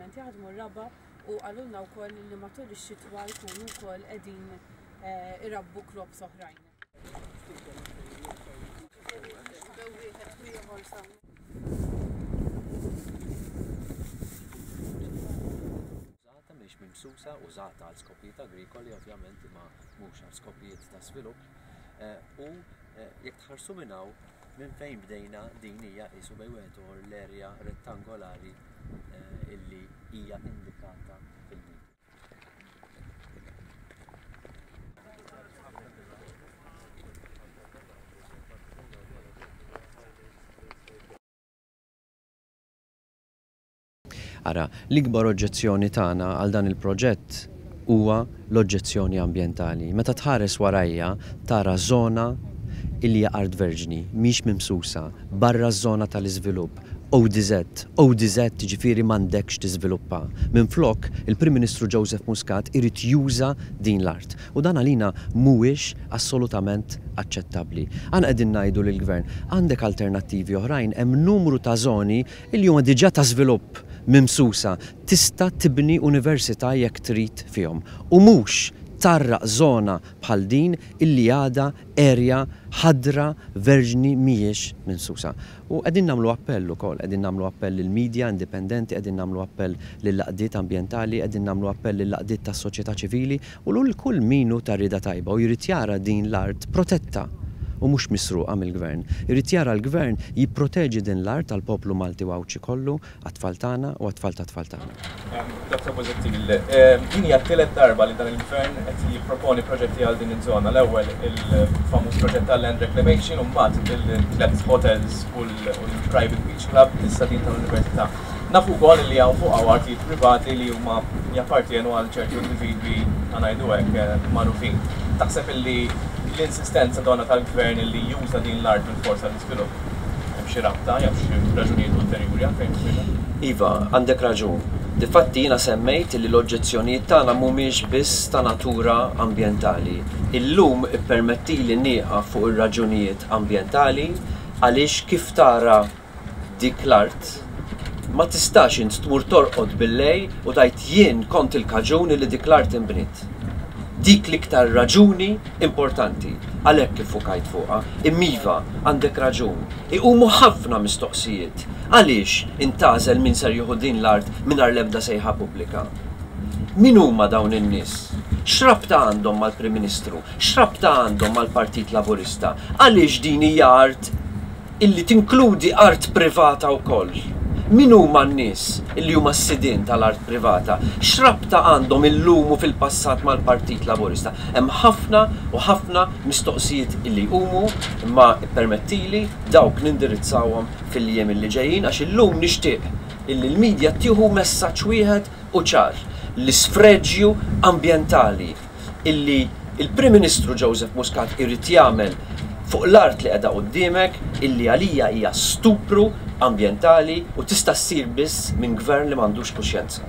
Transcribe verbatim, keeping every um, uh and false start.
ovvjament jaħdmu r-raba' u qalulna wkoll li matul ix-xitwa jkunu wkoll qegħdin eh, irabbu crops oħrajn. Wieħed ieħor sa Użata mhix mimsusa, użata għal skopijiet agrikoli ovvjament, imma mhux għal skopijiet ta' svilupp. Eh, u eh, jekk tħarsu minn hawn, minn fejn bdejna, din hija qisu bejn wieħed u ieħor l-erja rettangolari eh, illi hija indikata fil-video. Ara, l-ikbar oġġezzjoni tagħna għal dan il-proġett huwa l-oġġezzjoni ambjentali. Meta tħares warajja tara żona illi hija art verġni, mhix mimsusa, barra ż-żona tal-iżvilupp, O D Z, O D Z ġifieri m'għandekx tiżviluppa. Minflok, il-Prim Ministru Joseph Muscat irid juża din l-art. U dan għalina mhuwiex assolutament aċċettabbli. Aħna qegħdin ngħidu lill-Gvern, għandek alternattivi oħrajn, hemm numru ta' żoni illi huma diġà ta' żvilupp mimsusa, tista' tibni università jekk trid fihom. U mhux tgħarraq żona bħal din illi għadha erja ħadra verġni mhijiex mimsusa. U qegħdin nagħmlu appell ukoll, qegħdin nagħmlu appell lill-media indipendenti, qegħdin nagħmlu appell lill-għaqdiet ambjentali, qegħdin nagħmlu appell lill-għaqdiet tas-soċjetà ċivili u lil kull min hu ta' rieda tajba u jrid jara din l-art protetta u mhux misruqa mill-gvern. Irid jara l-gvern jipproteġi din l-art tal-poplu Malti u Għawdxi kollu, għat-tfal tagħna u għat-tfal tat-tfal tagħna. Doktor Busuttil, din hija t-tielet darba li dan il-gvern qed jipproponi proġetti għal din iż-żona. L-ewwel il-famuż proġett tal-land reclamation u mbagħad il-tliet hotels u l-private beach club, issa din tal-università. Nafu wkoll li hawn fuq hawn artijiet privati li huma jappartienu għal ċertu individwi, ħa ngħidu hekk, magħrufin. Taħseb illi l-insistenza donna tal-gvern li juża din l-art bil-forsa l-iżvilupp hemm xi rabta jew xi raġunijiet ulterjuri għalfejn isir? Iva, għandek raġun. Difatti jiena semmejt li l-oġġezzjonijiet tagħna mhumiex biss ta' natura ambjentali. Illum ippermettili nieqaf fuq ir-raġunijiet ambjentali għaliex kif tara dik l-art ma tistax int tmur torqod billejl u tgħid jien kont il-kaġun li dik l-art inbniet. Dik l-iktar raġuni importanti, għalhekk iffukajt fuqha. Imma iva, għandek raġun. Iqumu ħafna mistoqsijiet. Għaliex intgħażel min ser jieħu din l-art mingħajr l-ebda sejħa pubblika? Min huma dawn in-nies? X'rabta għandhom mal-Prim Ministru? X'rabta għandhom mal-Partit Laburista? Għaliex din hija art illi tinkludi art privata wkoll? Min huma n-nies illi huma s-sidien tal-art privata? X'rabta għandhom illum u fil-passat mal-Partit Laburista? Hemm ħafna u ħafna mistoqsijiet illi jqumu, imma ippermettili dawk nindirizzawhom fil-jiem illi ġejjin, għax illum nixtieq illi l-medja tieħu messaġġ wieħed u ċar: l-isfreġju ambjentali illi il-Prim Ministru Joseph Muscat irid jagħmel fuq l-art li qiegħda quddiemek, illi għalija hija stupru ambjentali u tista' ssir biss minn gvern li m'għandux kuxjenza.